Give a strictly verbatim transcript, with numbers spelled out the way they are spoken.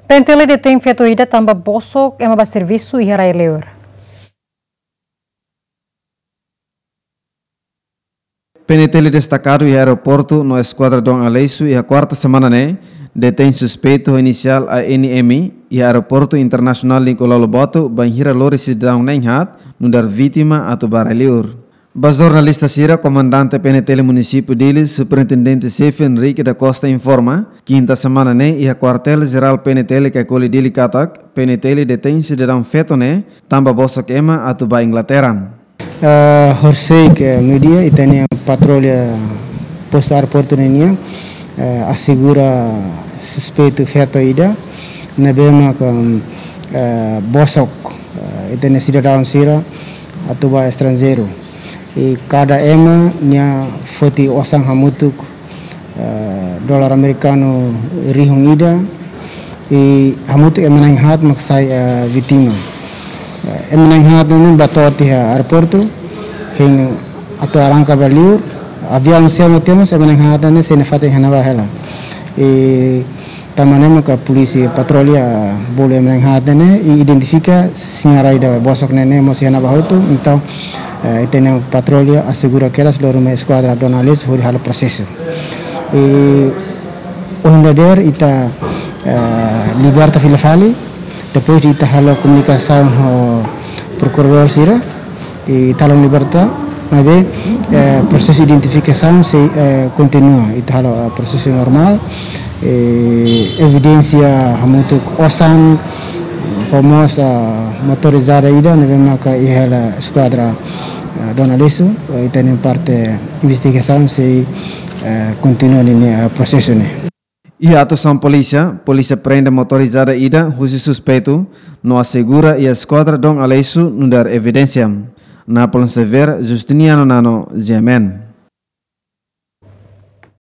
PNTL detein feto ida tanba bosok ema ba servisu iha rai-li'ur. PNTL destakadu iha aeroportu no eskuadra Dom Aleixo iha kuarta semana ne'e, detein suspeitu ho inisiál A N M iha Aeroportu Internasionál Nicolau Lobato, bainhira lori sidadaun na'in-haat nu'udar vítima atu ba rai-li'ur. Ba jornalista sira, Komandante PNTL Munisípiu Dili, Superintendente Xefe Henrique da Costa informa, kinta semana ne'e iha Kuartél Jerál PNTL Caicoli Dili katak, PNTL detein sidadaun feto ne'e tanba bosok ema atu ba Inglaterra. Eh, horisehik meiudia, ita-nia patrulla postu aeroportu ne'e nian, eh, asegura suspeitu feto ida, ne'ebé maka, eh, bosok, eh, ita-nia sidadaun sira atu ba estranjeiru. I kada ema nia foti osan hamutuk, eh, dolar amerikanu rihun ida, i hamutuk ema na'in-haat mak sai, eh, vítima. Eh, ema na'in-haat ne'e ba to'o tiha aeroportu, hein atu arranka ba li'ur, aviaun seluk temos, ema na'in-haat ne'e sei nafatin iha ne'ebá hela. I tanba ne'e maka polísia patrulla bolu ema na'in-haat ne'e, i identifika, siña rai ida bosok ne'e, ne'e mós iha ne'ebá hotu, entaun, eh, ita-nia patrulla asegura kedas lori mai eskuadra Dom Aleixo hodi halo prosesu. I ohin dadeer ita, eh, liberta fila fali, depois de ita halo komunikasaun ho prokuradór sira, i ita halo liberta, maibé, eh, prosesu identifikasaun sei, eh, kontinua, ita halo, eh, prosesu normál, eh, evidénsia hamutuk osan, ho mós, eh, motorizada ida, ne'ebé maka iha hela eskuadra, eh, Dom Aleixo, eh, ita-nia parte investigasaun sei, eh, kontinua ninia, eh, prosesu ne'e. Iha atuasaun polísia, polísia prende motorizada ida husi suspeitu, no asegura iha eskuadra Dom Aleixo nu'udar evidénsia. Napoleon Xavier, Justiniano Nano, G M N.